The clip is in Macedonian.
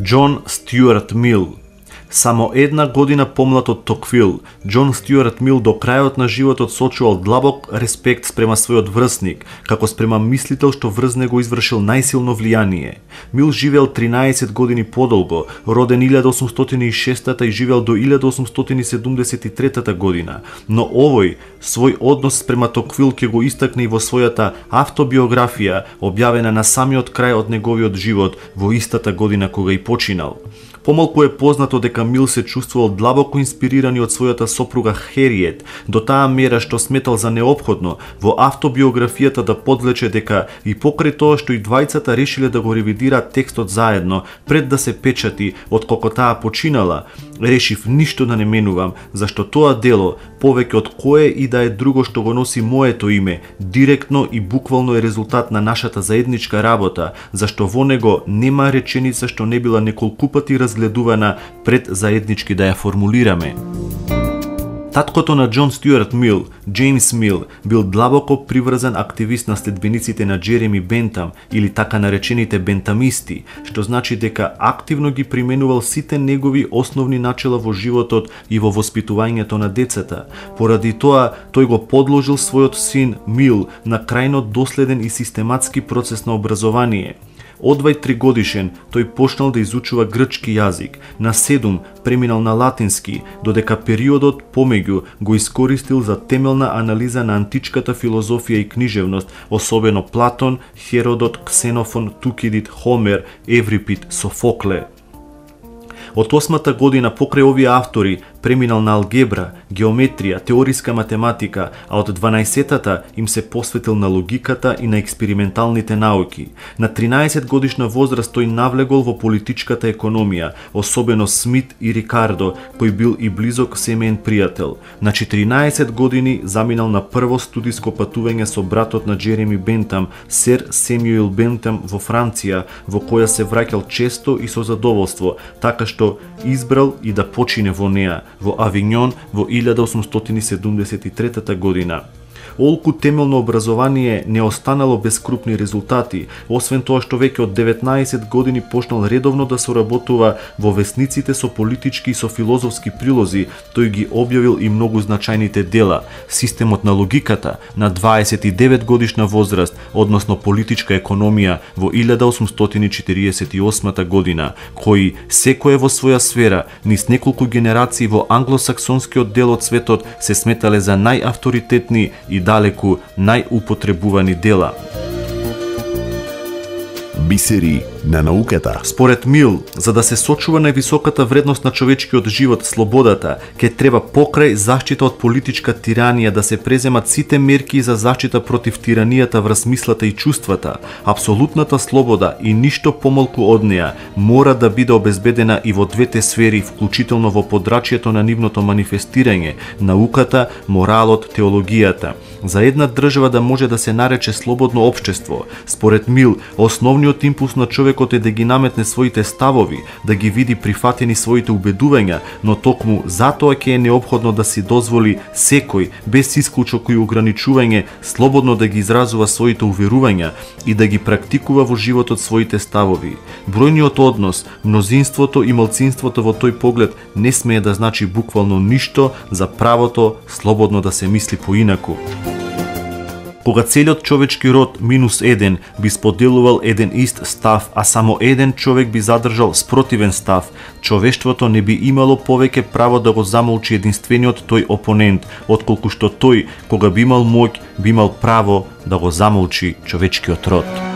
Џон Стјуарт Мил. Само една година помлад од Токвил, Џон Стјуарт Мил до крајот на животот сочувал длабок респект спрема својот врсник, како спрема мислител што врз него извршил најсилно влијание. Мил живеел 13 години подолго, роден 1806 и живеел до 1873 година, но овој свој однос спрема Токвил ќе го истакне и во својата автобиографија, објавена на самиот крај од неговиот живот во истата година кога и починал. Помалку е познато дека Мил се чувствувал длабоко инспирирани од својата сопруга Хериет, до таа мера што сметал за неопходно во автобиографијата да подлече дека и покрај тоа што и двајцата решиле да го ревидираат текстот заедно пред да се печати откако таа починала, решив ништо да не менувам, зашто тоа дело, повеќе од кое и да е друго што го носи моето име, директно и буквално е резултат на нашата заедничка работа, зашто во него нема реченица што не била неколкупати разгледувана пред заеднички да ја формулираме. Таткото на Џон Стјуарт Мил, Џејмс Мил, бил длабоко приврзан активист на следбениците на Џереми Бентам или така наречените бентамисти, што значи дека активно ги применувал сите негови основни начела во животот и во воспитувањето на децата. Поради тоа, тој го подложил својот син Мил на крајно доследен и систематски процес на образование. Од 23 годишен, тој почнал да изучува грчки јазик, на 7 преминал на латински, додека периодот помеѓу го искористил за темелна анализа на античката филозофија и книжевност, особено Платон, Херодот, Ксенофон, Тукидид, Хомер, Еврипид, Софокле. Од 8-та година покрај овие автори преминал на алгебра, геометрија, теориска математика, а од 12-тата им се посветил на логиката и на експерименталните науки. На 13 годишна возраст тој навлегол во политичката економија, особено Смит и Рикардо, кој бил и близок семеен пријател. На 14 години заминал на прво студиско патување со братот на Џереми Бентам, Сер Семјуел Бентам во Франција, во која се враќал често и со задоволство, така што избрал и да почине во неа, во Авињон во 1873 година. Олку темелно образование не останало без крупни резултати, освен тоа што веќе од 19 години почнал редовно да соработува во весниците со политички и со филозофски прилози, тој ги објавил и многу значајните дела: Системот на логиката на 29 годишна возраст, односно политичка економија во 1848 година, кои секое во своја сфера, низ неколку генерации во англосаксонскиот дел од светот се сметале за најавторитетни и далеку најупотребувани дела. Бисери на науката. Според Мил, за да се сочува највисоката вредност на човечкиот живот, слободата, ќе треба покрај заштита од политичка тиранија да се преземат сите мерки за заштита против тиранијата врз мислата и чувствата. Апсолутната слобода и ништо помалку од неа мора да биде обезбедена и во двете сфери, вклучително во подрачјето на нивното манифестирање, науката, моралот, теологијата. За една држава да може да се нарече слободно општество, според Мил, основниот импулс на човекот е да ги наметне своите ставови, да ги види прифатени своите убедувања, но токму затоа ќе е неопходно да си дозволи секој, без исклучок и ограничување, слободно да ги изразува своите уверувања и да ги практикува во животот своите ставови. Бројниот однос, мнозинството и малцинството во тој поглед не смее да значи буквално ништо за правото слободно да се мисли поинаку. Кога целиот човечки род минус еден би споделувал еден ист став, а само еден човек би задржал спротивен став, човештвото не би имало повеќе право да го замолчи единствениот тој опонент, отколку што тој, кога би имал моќ, би имал право да го замолчи човечкиот род.